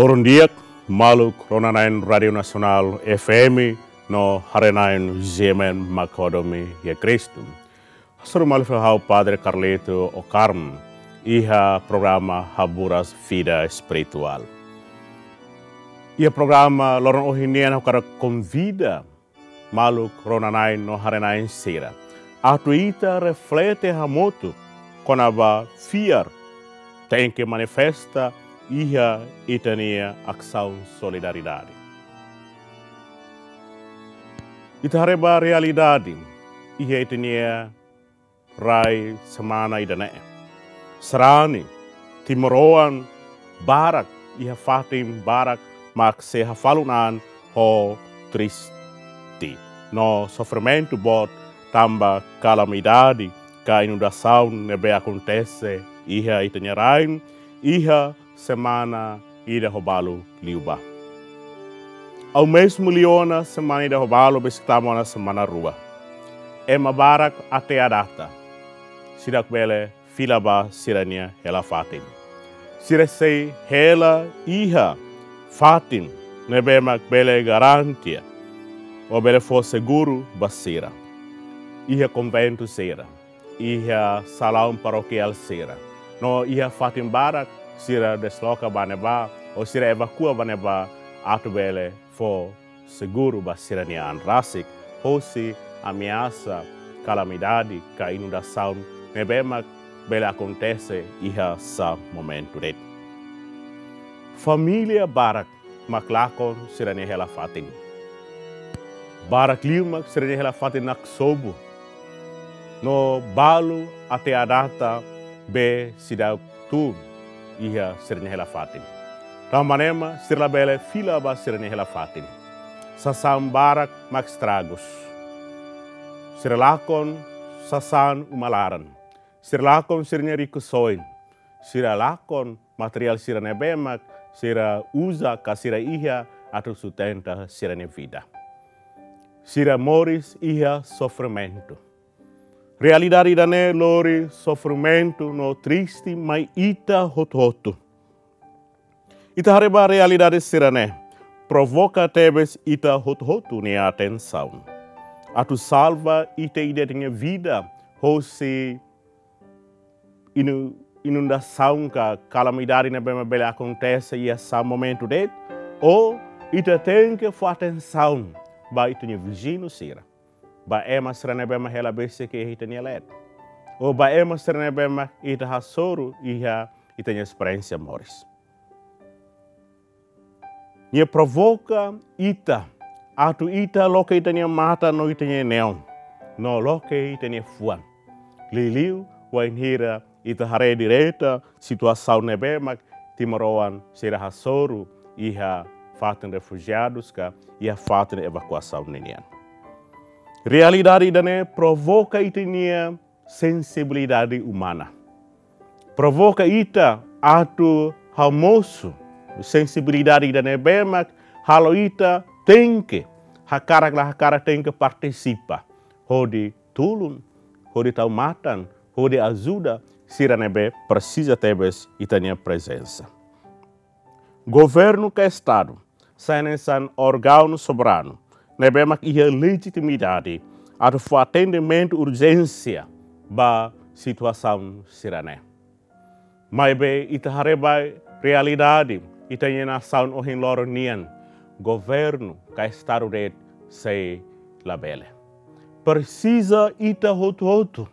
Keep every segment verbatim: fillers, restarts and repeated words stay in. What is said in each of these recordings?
Loron di'ak, maluk rona-na'in Rádiu Nasionál F M no haree-na'in G M N Makodomi ya Kristu. Hasoru malu fali ha'u Padre Carlito Okarm iha programa Haburas Vida Espirituál. Iha programa loron ohin nian ha'u hakarak konvida maluk rona-na'in no haree-na'in sira atu ita reflete hamutuk kona-ba fiar tenke manifesta iha ita-nia asaun solidariedade. Ita haree ba realidade iha ita-nia rai semana ida-ne'e. Sarani, timoroan barak iha fatin barak mak sei hafalu-na'an ho triste no sofrimentu boot tanba kalamidade ka inundasaun ne'ebé akontese iha ita-nia rain iha semana ida ho balu liubá. Ao mesmo liu ona semana ida ho balu besik tama ona semana rua. Ema barak até à data seidauk bele fila ba sira-nia hela-fatin. Sira sei hela iha fatin ne'ebé mak bele garante ou bele fó seguru ba sira. Iha konventu sira, iha salaun parokiál sira, no iha fatin barak sira desloka ba ne'ebá ou sira evakua ba ne'ebá atu bele fó seguru ba sira-nia an rasik hosi ameasa kalamidade ka inundasaun ne'ebé mak bele akontese iha sá momentu de'it. Família barak mak lakon sira-nia hela-fatin. Barak liu mak sira-nia hela-fatin naksobu. No balu até à data be seidauk tun iha sira-nia hela-fatin. Tanba ne'e mak sira labele fila ba sira-nia hela-fatin. Sasán barak mak estragus. Sira lakon sasán uma laran. Sira lakon sira-nia rikusoin. Sira lakon materiál sira ne'ebé mak sira uza ka sira iha atu sustenta sira-nia vida. Sira moris iha sofrimentu. Realidade ida-ne'e lori sofrimentu no triste mai ita hotu-hotu. Ita haree ba realidade sira-ne'e provoka tebes ita hotu-hotu nia atensaun. Atu salva ita ida-idak nia vida hosi inu-, inundasaun ka kalamidade ne'ebé mak bele akontese iha sá momentu de'it, ou ita tenke fó atensaun ba ita-nia viziñu sira, ba ema sira ne'ebé mak hela besik iha ita-nia leet, ou ba ema sira ne'ebé mak ita hasoru iha ita-nia esperiénsia moris. Nia provoka ita atu ita loke ita-nia matan no ita-nia neon, no loke ita-nia fuan. Liuliu wainhira ita haree direta situasaun ne'ebé mak timoroan sira hasoru iha fatin refujiadus ka iha fatin evakuasaun ninian. Realidade ida-ne'e provoka ita-nia sensibilidade umana. Provoka ita atu hamosu sensibilidade ida ne'ebé mak halo ita tenke, hakarak la hakarak tenke partisipa hodi tulun, hodi tau matan, hodi ajuda sira ne'ebé presiza tebes ita-nia prezensa. Governu ka Estadu sai hanesan órgaun soberanu ne'ebé mak iha lejitimidade atu fó atendimentu urjénsia ba situasaun sira-ne'e. Maibé ita haree ba realidade ita-nia nasaun ohin loron nian, governu ka Estadu de'it sei labele. Presiza ita hotu-hotu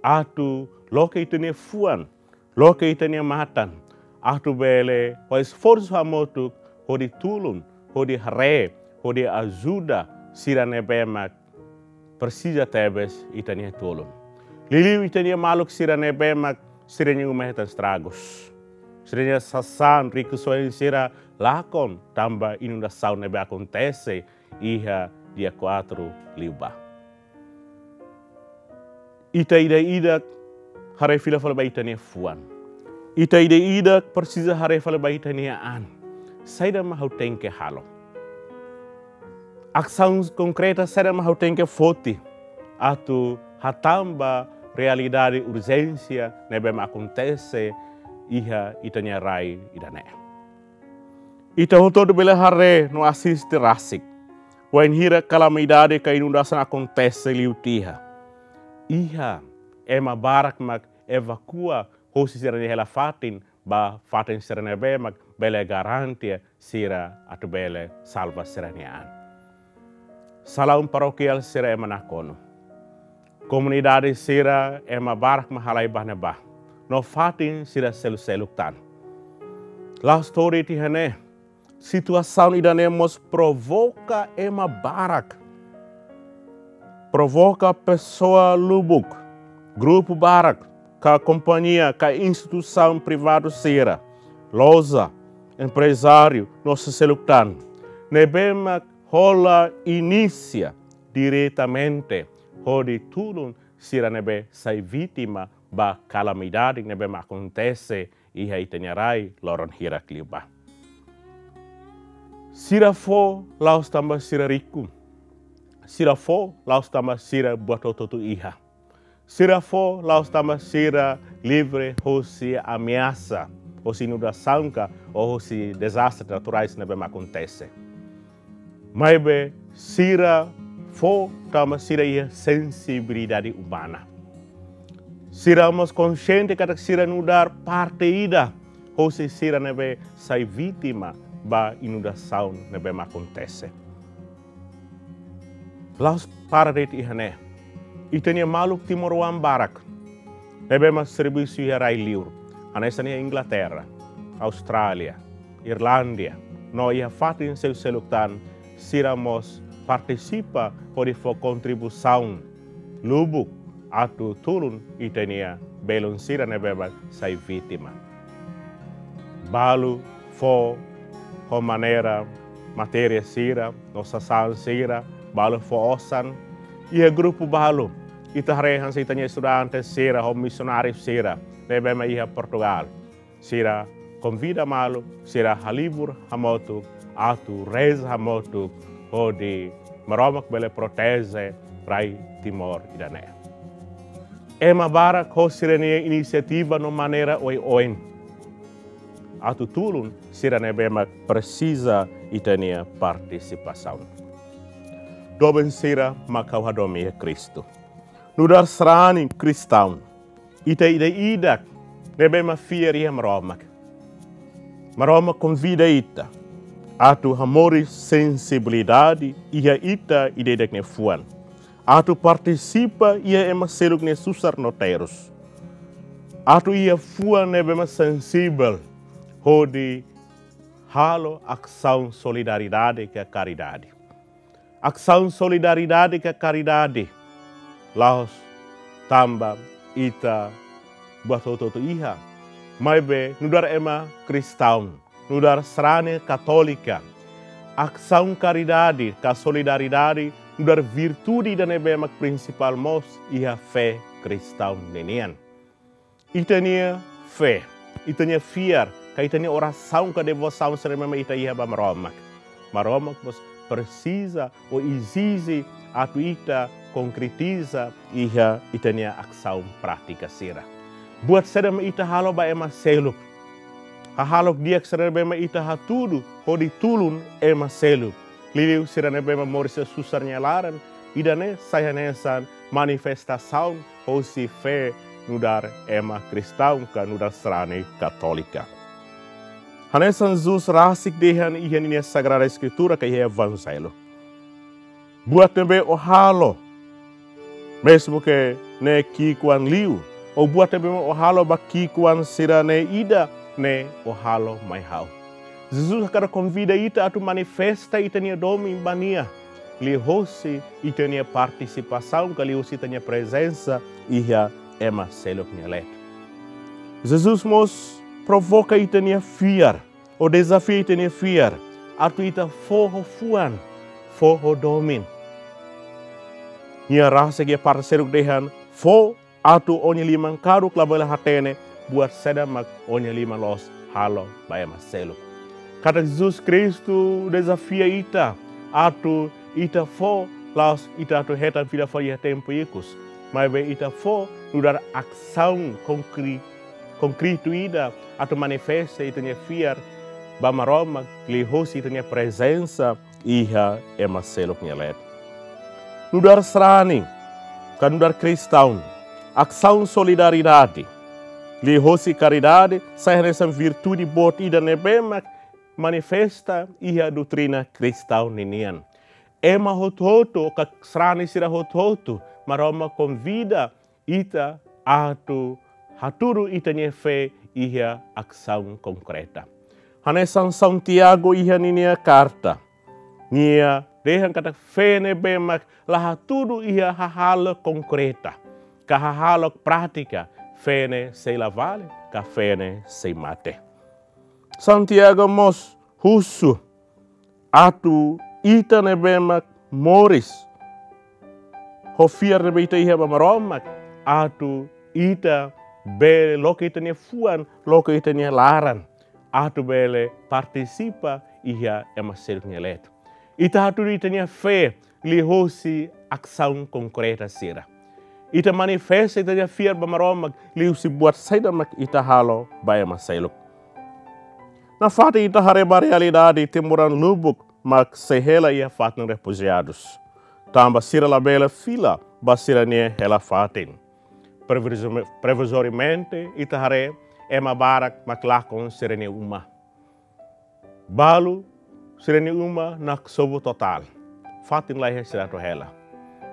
atu loke ita-nia fuan, loke ita-nia matan, atu bele fó esforsu hamutuk hodi tulun, hodi haree, hodi ajuda sira ne'ebé mak presiza tebes ita-nia tulun. Liuliu ita-nia maluk sira ne'ebé mak sira-nia uma hetan estragus. Sira-nia sasán rikusoin sira lakon tanba inundasaun ne'ebé akontese iha dia kuatru liubá. Ita ida-idak haree fila fali ba ita-nia fuan. Ita ida-idak presiza haree fali ba ita-nia an. Saida mak ha'u tenke halo? Asaun konkreta saida mak ha'u tenke foti atu hatán ba realidade urjénsia ne'ebé mak akontese iha ita-nia rai ida-ne'e? Ita hotu-hotu bele haree no asiste rasik wainhira kalamidade ka inundasaun akontese liu tiha. Iha ema barak mak evakua hosi sira-nia hela-fatin ba fatin sira ne'ebé mak bele garante sira atu bele salva sira-nia an. Salaun parokiál sira ema nakonu. Komunidade sira ema barak mak halai ba ne'ebá. No fatin sira seluk-seluk tan. La'ós to'o de'it iha ne'e, situasaun ida-ne'e mós provoka ema barak. Provoka pesoa lubuk, grupu barak, ka kompañia, ka instituisaun privadu sira, loja, emprezáriu, no seluk tan, ne'ebé mak hola inisia diretamente hodi tulun sira ne'ebé sai vítima ba kalamidade ne'ebé mak akontese iha ita-nia rai loron hirak liubá. Sira fó la'ós tanba sira riku. Sira fó la'ós tanba sira buat hotu-hotu iha. Sira fó la'ós tanba sira livre hosi ameasa, hosi inundasaun ka, ou hosi dezastre naturais ne'ebé mak akontese. Maibé sira fó tanba sira iha sensibilidade umana. Sira mós konxiente katak sira nu'udar parte ida hosi sira ne'ebé sai vítima ba inundasaun ne'ebé mak akontese. La'ós para de'it iha ne'e. Ita-nia maluk timoroan barak ne'ebé mak servisu iha rai-liur, hanesan iha Inglaterra, Austrália, Irlandia, no iha fatin seluk-seluk tan, sira mós partisipa hodi fó kontribuisaun lubuk atu tulun ita-nia belun sira ne'ebé mak sai vítima. Balu fó ho maneira matéria sira, no sasán sira, balu fó osan. Iha grupu balu, ita haree hanesan ita-nia estudante sira, ho misionáriu sira, ne'ebé mak iha Portugal. Sira konvida malu, sira halibur hamutuk, atu reza hamutuk, hodi Maromak bele proteje rai Timor ida-ne'e. Ema barak ho sira-nia inisiativa no maneira oioin atu tulun sira ne'ebé mak presiza ita-nia partisipasaun. Doben sira mak ha'u hadomi iha Kristu. Nu'udar sarani kristaun, ita ida-idak ne'ebé mak fiar iha Maromak. Maromak konvida ita atu hamoris sensibilidade iha ita ida-idak nia fuan. Atu partisipa iha ema seluk nia susar no terus. Atu iha fuan ne'ebé mak sensivel hodi halo asaun solidariedade ka karidade. Asaun solidariedade ka karidade la'ós tanba ita buat hotu-hotu iha. Maibé nu'udar ema kristaun, nu'udar sarani katólika, asaun karidade ka solidariedade nu'udar virtude ida ne'ebé mak prinsipál mós iha fé kristaun ninian. Ita-nia fé, ita-nia fiar, ka ita-nia orasaun ka devosaun sira ne'ebé mak ita iha ba Maromak. Maromak mós presiza ou ezije atu ita konkretiza iha ita-nia asaun prátika sira. Buat saida mak ita halo ba ema seluk. Hahalok di'ak sira ne'ebé mak ita hatudu hodi tulun ema seluk. Liuliu sira ne'ebé mak moris iha susar nia laran, ida-ne'e sai hanesan manifestasaun hosi fé nu'udar ema kristaun ka nu'udar sarani katólika. Hanesan Jesus rasik dehan iha ninia Sagrada Eskritura ka iha Evanjellu. Buat ne'ebé ó halo, mezmu ke ne'e ki'ikoan liu, ou buat ne'ebé ó halo ba ki'ikoan sira-ne'e ida, ne'e ó halo mai ha'u. Jesus hakarak konvida ita atu manifesta ita-nia domin ba nia, liuhosi ita-nia partisipasaun ka liuhosi ita-nia prezensa iha ema seluk nia leet. Jesus mós provoka ita-nia fiar, ou dezafia ita-nia fiar, atu ita fó ho fuan, fó ho domin. Nia rasik iha parte seluk dehan, fó atu ó-nia liman karuk labele hatene buat saida mak ó-nia liman loos halo ba ema seluk. Katak Jesus Kristu dezafia ita atu ita fó, la'ós ita atu hetan fila fali iha tempu ikus. Maibé ita fó nu'udar asaun konkri-, konkretu ida atu manifesta ita-nia fiar ba Maromak liuhusi ita-nia prezensa iha ema seluk nia leet. Nu'udar sarani, ka nu'udar kristaun, asaun solidariedade liuhusi karidade sai hanesan virtude boot ida ne'ebé mak manifesta iha doutrina kristaun ninian. Ema hotu-hotu, ka sarani sira hotu-hotu, Maromak konvida ita atu hatudu ita-nia fé iha asaun konkreta. Hanesan Santiago iha ninia karta, nia dehan katak fé ne'ebé mak la hatudu iha hahalok konkreta, ka hahalok prátika, fé ne'e sei la vale, ka fé ne'e sei mate. Santiago mós husu atu ita ne'ebé mak moris ho fiar ne'ebé ita iha ba Maromak, atu ita bele loke ita-nia fuan, loke ita-nia laran, atu bele partisipa iha ema seluk nia leet. Ita hatudu ita-nia fé liuhusi asaun konkreta sira. Ita manifesta ita-nia fiar ba Maromak liuhusi buat saida mak ita halo ba ema seluk. Nafatin ita haree ba realidade timoroan lubuk mak sei hela iha fatin refujiadus, tanba sira labele fila ba sira-nia hela-fatin. Provisome-, provizoriamente ita haree ema barak mak lakon sira-nia uma. Balu sira-nia uma naksobu totál. Fatin la iha sira atu hela.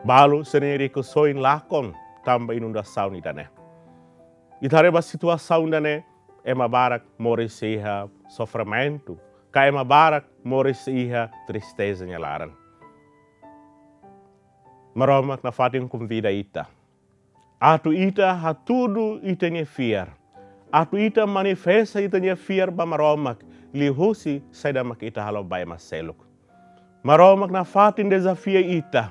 Balu sira-nia rikusoin lakon tanba inundasaun ida-ne'e. Ita haree ba situasaun ida-ne'e, ema barak moris iha sofrimentu, ka ema barak moris iha tristeza nia laran. Maromak nafatin konvida ita atu ita hatudu ita-nia fiar, atu ita manifesta ita-nia fiar ba Maromak liuhusi saida mak ita halo ba ema seluk. Maromak nafatin dezafia ita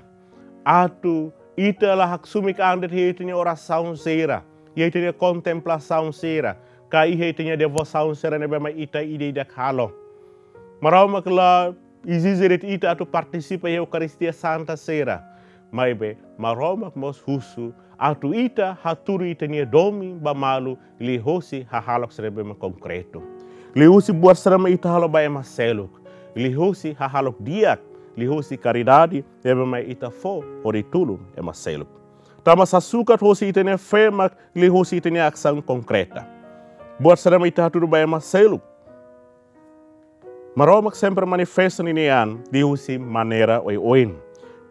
atu ita la haksoit an de'it iha ita-nia orasaun sira, iha ita-nia kontemplasaun sira, ka iha ita-nia devosaun sira ne'ebé mak ita ida-idak halo. Maromak la ezije de'it ita atu partisipa iha Eukaristia Santa sira. Maibé Maromak mós husu atu ita hatudu ita-nia domin ba malu liuhusi hahalok sira ne'ebé mak konkretu. Liuhusi buat sira mak ita halo ba ema seluk. Liuhusi hahalok di'ak, liuhusi karidade ne'ebé mak ita fó hodi tulun ema seluk. Tanba sasukat hosi ita-nia fé mak liuhusi ita-nia asaun konkreta. Buat sira mak ita hatudu ba ema seluk, Maromak sempre manifesta ninia an liuhusi maneira oioin.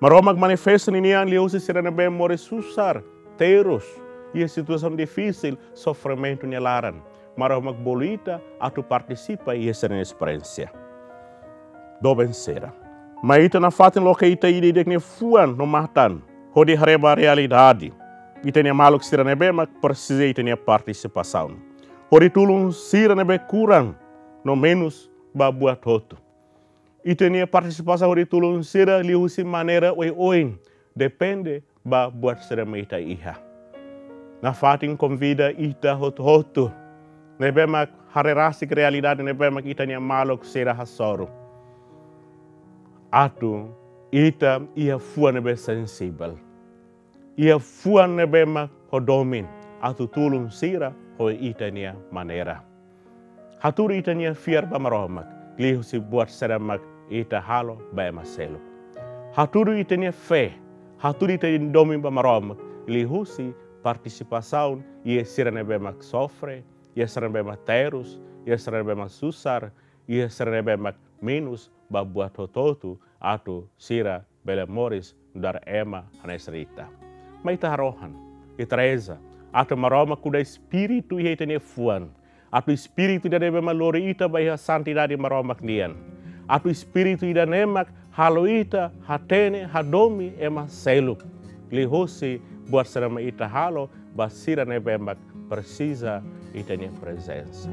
Maromak manifesta ninia an liuhusi sira ne'ebé moris susar, terus, iha situasaun difisil, sofrimentu nia laran. Maromak bolu ita atu partisipa iha sira-nia esperiénsia. Doben sira, mai ita nafatin loke ita ida-idak nia fuan no matan hodi haree ba realidade ita-nia maluk sira ne'ebé mak presiza ita-nia partisipasaun. Hodi tulun sira ne'ebé kurang no menus ba buat hotu. Ita-nia partisipasaun hodi tulun sira liuhusi maneira oioin, depende ba buat sira mak ita iha. Nafatin konvida ita hotu-hotu ne'ebé mak haree rasik realidade ne'ebé mak ita-nia maluk sira hasoru, atu ita iha fuan ne'ebé sensivel, iha fuan ne'ebé mak ho domin, atu tulun sira ho ita-nia maneira. Hatudu ita-nia fiar ba Maromak liuhusi buat sira mak ita halo ba ema seluk. Hatudu ita-nia fé, hatudu ita-nia domin ba Maromak liuhusi partisipasaun iha sira ne'ebé mak sofre, iha sira ne'ebé mak terus, iha sira ne'ebé mak susar, iha sira ne'ebé mak menus ba buat hotu-hotu, atu sira bele moris nu'udar ema hanesan ita. Mai ita harohan, ita reza atu Maromak kuda espíritu iha ita-nia fuan, atu espíritu ida ne'ebé mak lori ita ba iha santidade Maromak nian, atu espíritu ida-ne'e mak halo ita hatene, hadomi ema seluk liuhusi buat sira mak ita halo ba sira ne'ebé mak presiza ita-nia prezensa.